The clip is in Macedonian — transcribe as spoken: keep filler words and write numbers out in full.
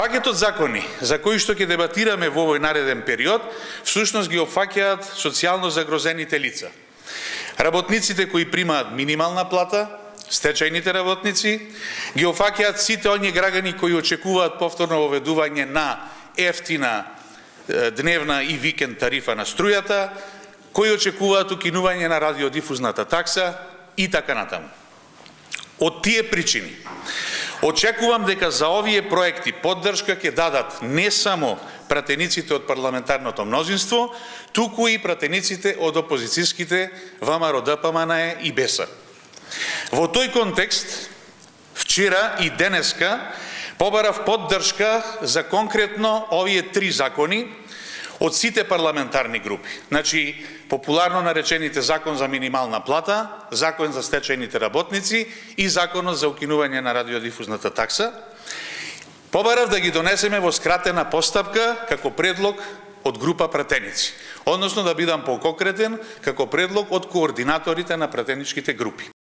Пакетот закони за кои што ќе дебатираме во овој нареден период, всушност ги опфаќаат социјално загрозените лица. Работниците кои примаат минимална плата, стечајните работници, ги опфаќаат сите оние граѓани кои очекуваат повторно воведување на ефтина дневна и викенд тарифа на струјата, кои очекуваат укинување на радиодифузната такса и така натаму. Од тие причини, очекувам дека за овие проекти поддршка ќе дадат не само пратениците од парламентарното мнозинство, туку и пратениците од опозицијските ВМРО, ДПМНЕ и БЕСА. Во тој контекст, вчера и денеска побарав поддршка за конкретно овие три закони од сите парламентарни групи. Значи, популарно наречените закон за минимална плата, закон за стечајните работници и законот за укинување на радиодифузната такса. Побарав да ги донесеме во скратена постапка како предлог од група пратеници, односно да бидам поконкретен како предлог од координаторите на пратеничките групи.